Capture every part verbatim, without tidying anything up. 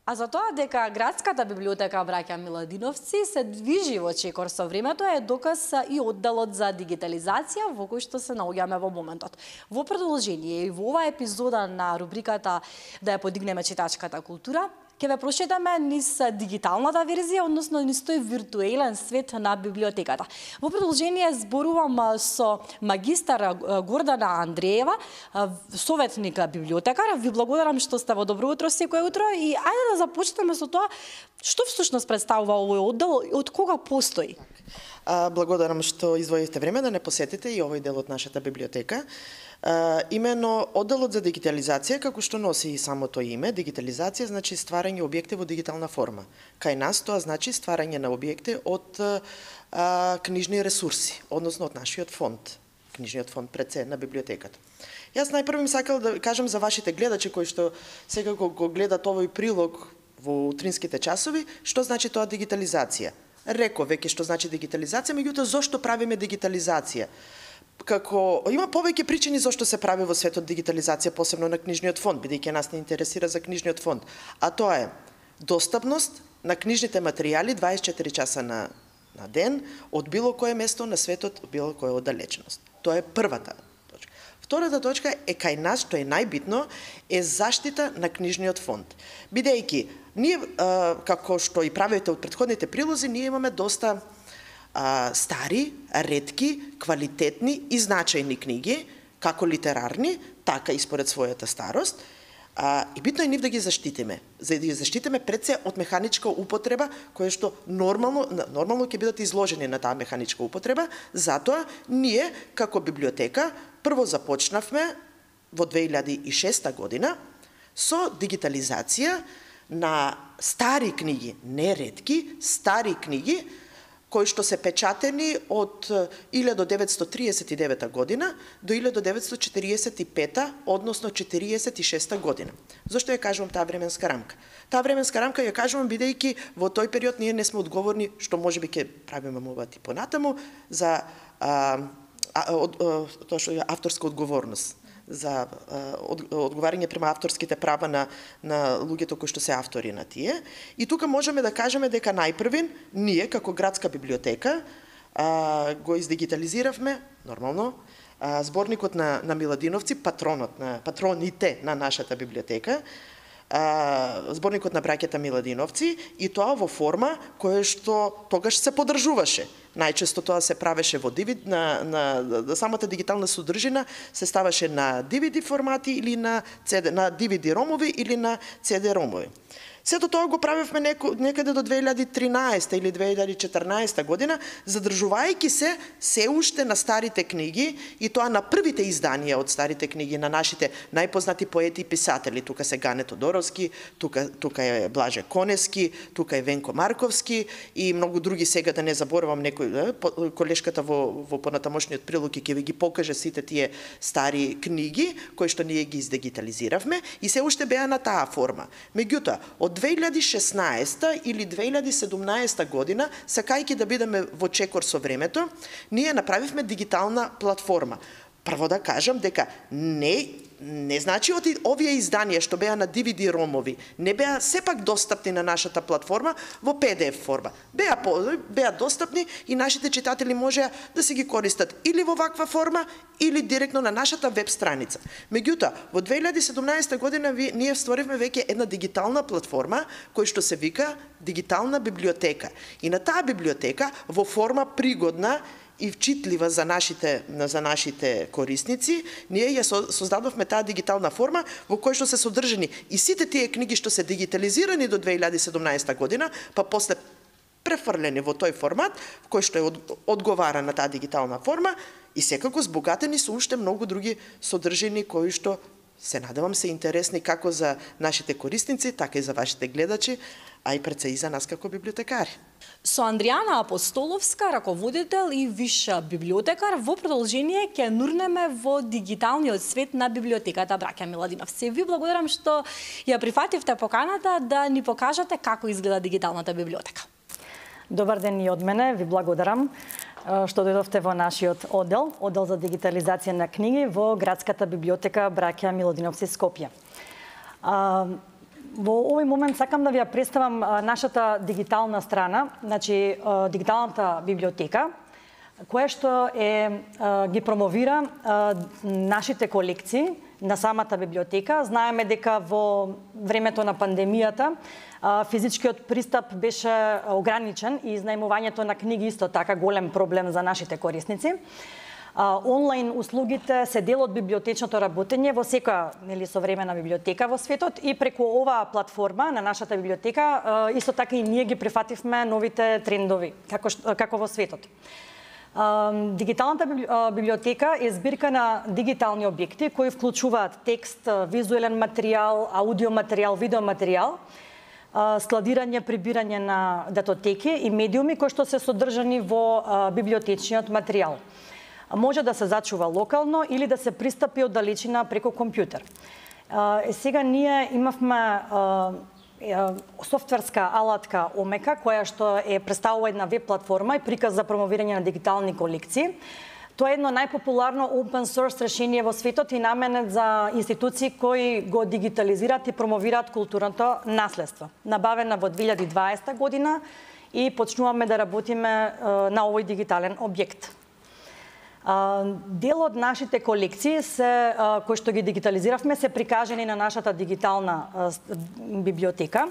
А за тоа дека градската библиотека Браќа Миладиновци се движи во чекор со времето е доказ и одделот за дигитализација во кој што се наоѓаме во моментот. Во продолжение и во оваа епизода на рубриката Да ја подигнеме читачката култура, ќе ве прошетаме низ дигиталната верзија, односно низ тој виртуелен свет на библиотеката. Во продолжение зборувам со магистар Гордана Андреева, советник библиотекар. Ви благодарам што сте во Добро утро секој утро и ајде да започнеме со тоа што всушност представува овој оддел и од кога постои. Благодарам што издвоивте време да не посетите и овој дел од нашата библиотека. Uh, имено одделот за дигитализација, како што носи и самото име, дигитализација значи стварање објекти во дигитална форма. Кај нас тоа значи стварање на објекти од uh, книжни ресурси, односно од нашиот фонд, книжниот фонд пред се на библиотеката. Јас најпрво им сакал да кажам за вашите гледачи кои што секако го гледат овој прилог во утринските часови, што значи тоа дигитализација. Реков веќе што значи дигитализација, меѓутоа зошто правиме дигитализација? Како има повеќе причини зашто се прави во светот дигитализација, посебно на книжниот фонд, бидејќи нас не интересира за книжниот фонд, а тоа е достапност на книжните материјали дваесет и четири часа на на ден од било кое место на светот, од било која оддалеченост. Тоа е првата точка. Втората точка е кај нас, што е најбитно, е заштита на книжниот фонд. Бидејќи ние како што и правите од претходните прилози, ние имаме доста А, стари, ретки, квалитетни и значајни книги, како литерарни, така и според својата старост. А, и битно е нив да ги заштитиме. За да ги заштитиме пред се од механичка употреба, која што нормално, нормално ќе бидат изложени на таа механичка употреба. Затоа, ние, како библиотека, прво започнавме во две илјади и шеста година со дигитализација на стари книги, не ретки, стари книги, кои што се печатени од илјада деветстотини триесет и девета година до илјада деветстотини четириесет и пета, односно четириесет и шеста година. Зошто ја кажувам таа временска рамка? Таа временска рамка ја кажувам бидејќи во тој период ние не сме одговорни, што можеби ќе правиме мовати понатаму, за а, а, од, а, тоа што е авторска одговорност, за од, одговарање према авторските права на, на луѓето кои што се автори на тие. И тука можеме да кажеме дека најпрвин, ние како градска библиотека а, го издигитализиравме, нормално, а, зборникот на, на Миладиновци, патронот на, патроните на нашата библиотека, а, зборникот на браќата Миладиновци, и тоа во форма која што тогаш се подржуваше. Најчесто тоа се правеше во ди ви ди, на, на, на самата дигитална содржина се ставаше на ди ви ди формати или на, си ди, на ди ви ди ромови или на си ди ромови. Сето тоа го правевме некаде до две илјади и тринаесета или две илјади и четрнаесета година, задржувајќи се се уште на старите книги и тоа на првите изданија од старите книги на нашите најпознати поети и писатели. Тука се Гане Тодоровски, тука, тука е Блаже Конески, тука е Венко Марковски и многу други, сега да не заборавам некој, колешката во, во понатамошниот прилог ќе ви ги покаже сите тие стари книги кои што ние ги издигитализиравме и се уште беа на таа форма. Меѓутоа, од две илјади и шеснаесета или две илјади и седумнаесета година, сакајќи да бидеме во чекор со времето, ние направивме дигитална платформа. Прво да кажам дека не не значи од овие изданија што беа на ди ви ди ромови, не беа сепак достапни на нашата платформа во пи ди еф форма. Беа беа достапни и нашите читатели можеа да се ги користат или во ваква форма или директно на нашата веб страница. Меѓутоа, во две илјади и седумнаесета година ние створивме веќе една дигитална платформа која што се вика Дигитална библиотека. И на таа библиотека во форма пригодна и вчитлива за нашите за нашите корисници, ние ја создадовме таа дигитална форма во која што се содржани и сите тие книги што се дигитализирани до две илјади и седумнаесета година, па после префрлени во тој формат, кој што е одговара на таа дигитална форма и секако збогатени со уште многу други содржини кои што се надевам се интересни како за нашите корисници, така и за вашите гледачи, а и пред се и за нас како библиотекари. Со Андријана Апостоловска, раководител и виш библиотекар, во продолжение ќе нурнеме во дигиталниот свет на библиотеката Браќа Миладиновци. Ви благодарам што ја прифативте поканата да ни покажате како изгледа дигиталната библиотека. Добар ден и од мене, ви благодарам што дојдовте во нашиот оддел, оддел за дигитализација на книги во градската библиотека Браќа Миладиновци Скопје. Во овој момент сакам да ви ја представам нашата дигитална страна, значи дигиталната библиотека, која што е ги промовира нашите колекции на самата библиотека. Знаеме дека во времето на пандемијата физичкиот пристап беше ограничен и изнајмувањето на книги исто така голем проблем за нашите корисници. Онлайн услугите се дел од библиотечното работење во секоја нели современа библиотека во светот и преку оваа платформа на нашата библиотека исто така и ние ги прифативме новите трендови како како во светот. Дигиталната библиотека е збирка на дигитални објекти кои вклучуваат текст, визуелен материјал, аудио материјал, видео материјал, складирање, прибирање на датотеки и медиуми кои што се содржани во библиотечниот материјал. Може да се зачува локално или да се пристапи од далечина преку компјутер. Сега ние имавме софтверска алатка Омека, која што е представува една веб платформа и приказ за промовирање на дигитални колекции. Тоа е едно најпопуларно open source решение во светот и наменет за институции кои го дигитализираат и промовираат културното наследство. Набавена во две илјади и дваесета година и почнуваме да работиме на овој дигитален објект. Дел од нашите колекции се кои што ги дигитализиравме се прикажани на нашата дигитална библиотека,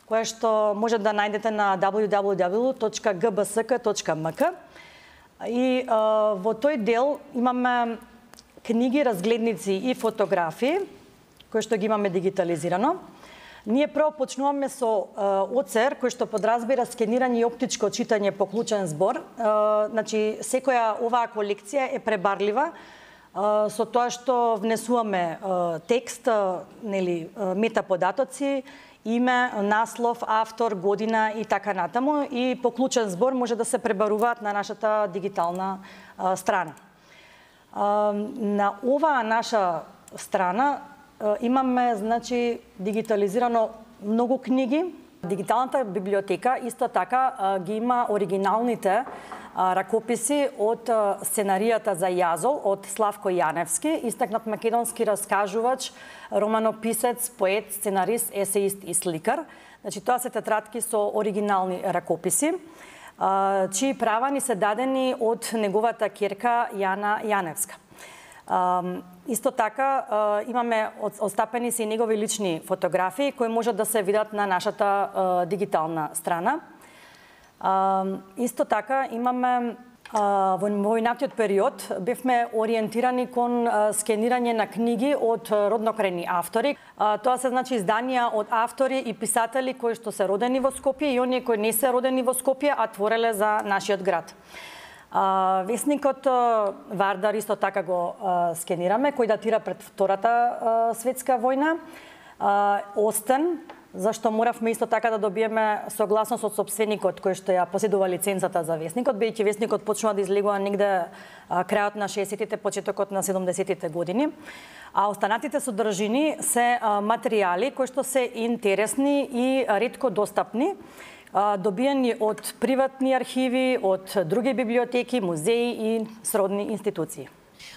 која што може да најдете на дабл ю дабл ю дабл ю точка г б с к точка м к. И во тој дел имаме книги, разгледници и фотографии кои што ги имаме дигитализирано. Ние прво почнуваме со о це ер, кој што подразбира скенирање и оптичко читање по клучен збор. Значи, секоја оваа колекција е пребарлива со тоа што внесуваме текст, нели, метаподатоци, име, наслов, автор, година и така натаму. И по клучен збор може да се пребаруваат на нашата дигитална страна. На оваа наша страна имаме, значи, дигитализирано многу книги. Дигиталната библиотека исто така ги има оригиналните ракописи од сценаријата за Јазол од Славко Јаневски, истакнат македонски раскажувач, романописец, поет, сценарист, есеист и сликар. Значи, тоа се тетратки со оригинални ракописи, чии права ни се дадени од неговата ќерка Јана Јаневска. Uh, исто така uh, имаме остапени се и негови лични фотографии кои можат да се видат на нашата uh, дигитална страна. Uh, исто така имаме uh, во војнатиот период бевме ориентирани кон uh, скенирање на книги од роднокрајни автори. Uh, тоа се значи изданија од автори и писатели кои што се родени во Скопје и оние кои не се родени во Скопје, а твореле за нашиот град. Uh, весникот uh, Вардар исто така го uh, скенираме, кој датира пред Втората uh, светска војна. Uh, Остен, зашто моравме исто така да добиеме согласност од сопственикот кој што ја поседува лицензата за весникот, бидејќи весникот почнува да излегува негде uh, крајот на шеесеттите, почетокот на седумдесеттите години. А останатите содржини се uh, материјали кои што се интересни и ретко достапни, добиени од приватни архиви, од други библиотеки, музеи и сродни институции.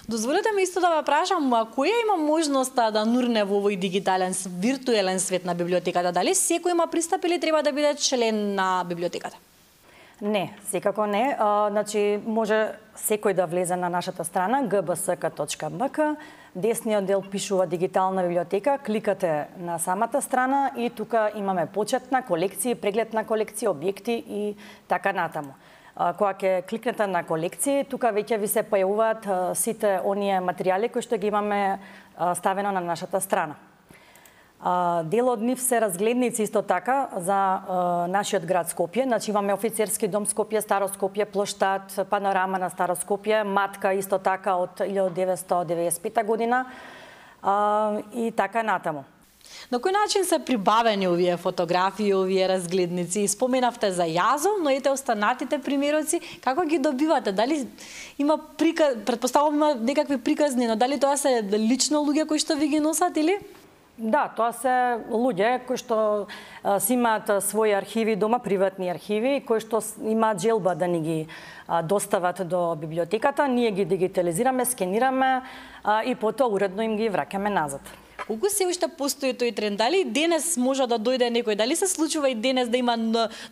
Дозволете ми исто да ве прашам, која има можноста да нурне во овој дигитален, виртуелен свет на библиотеката? Дали секој има пристап или треба да биде член на библиотеката? Не, секако не. А, значи, може секој да влезе на нашата страна г б с к точка м к. Десниот дел пишува дигитална библиотека, кликате на самата страна и тука имаме почет на колекции, преглед на колекции, објекти и така натаму. Кога ќе кликнете на колекции, тука веќе ви се појавуваат сите оние материјали кои што ги имаме ставено на нашата страна. Дел од нив се разгледници исто така за нашиот град Скопје. Значи имаме Офицерски дом Скопје, Старо Скопје, Плоштад, панорама на Старо Скопје, Матка исто така од илјадесетстотини деветдесет и пета година и така натаму. На кој начин се прибавени овие фотографии, овие разгледници? Споменавте за Јазол, но ете останатите примероци, како ги добивате? Дали има приказ, претпоставувам има некакви приказни, но дали тоа се лично луѓе кои што ви ги носат или? Да, тоа се луѓе кои што а, си имаат своји архиви дома, приватни архиви, кои што имаат желба да ни ги а, достават до библиотеката, ние ги дигитализираме, скенираме а, и потоа уредно им ги враќаме назад. Колку се уште постои тој тренд? Дали денес може да дојде некој? Дали се случува и денес да има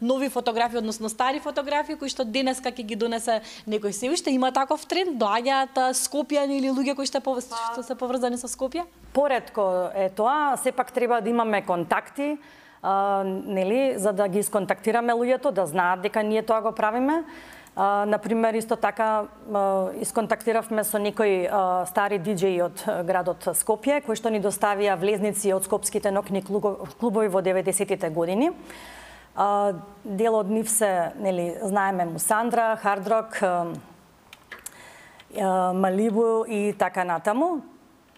нови фотографии, односно стари фотографии кои што денес ќе ги донесе некој? Се уште има таков тренд? Доаѓаат Скопјани или луѓе кои што што се поврзани со Скопје? Поретко е тоа, сепак треба да имаме контакти, а, нели, за да ги исконтактираме луѓето, да знаат дека ние тоа го правиме. Uh, например, исто така uh, исконтактиравме со некои uh, стари диџеи од градот Скопје, кои што ни доставија влезници од скопските ноќни клубови во деветдесетите години. Uh, дел од нив се, нели, знаеме Мусандра, Хардрок, uh, uh, Малибу и така натаму.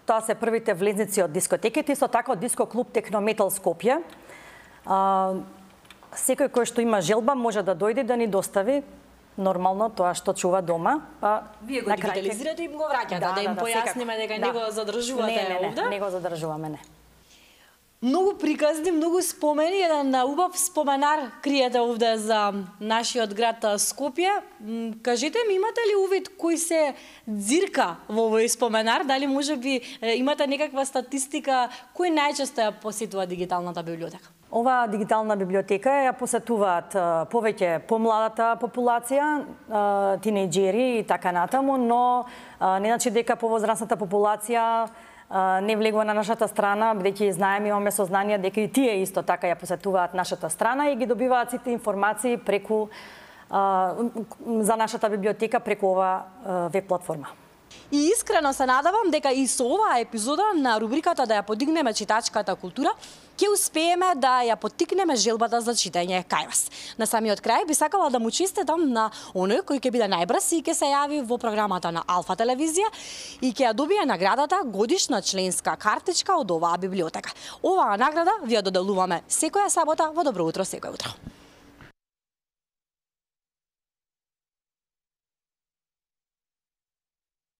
Тоа се првите влезници од дискотеките, исто така од диско клуб Технометал Скопје. Uh, секој кој што има желба може да дојде да ни достави нормално тоа што чува дома, па вие го дигитализирате и им го враќате, да, да, да им да, појасниме дека да. Не го задржувате не, не, не, овде. Не го задржуваме, не. Многу приказни, многу спомени, еден убав споменар криете овде за нашиот град Скопје. Кажете ми, имате ли увид кој се дзирка во овој споменар? Дали можеби имате некаква статистика кој најчесто ја посетува дигиталната библиотека? Ова дигитална библиотека ја посетуваат повеќе помладата популација, тинејџери и така натаму, но не значи дека повозрасната популација не влегува на нашата страна, бидејќи знаеме, имаме сознание дека и тие исто така ја посетуваат нашата страна и ги добиваат сите информации преку за нашата библиотека преку ова веб платформа. И искрено се надавам дека и со оваа епизода на рубриката да ја подигнеме читачката култура, ќе успееме да ја поттикнеме желбата за читање кај вас. На самиот крај би сакала да му честитам на оној кој ќе биде најбрз и ќе се јави во програмата на Алфа телевизија и ќе ја добие наградата годишна членска картичка од оваа библиотека. Оваа награда ви ја доделуваме секоја сабота во Добро утро секој утро.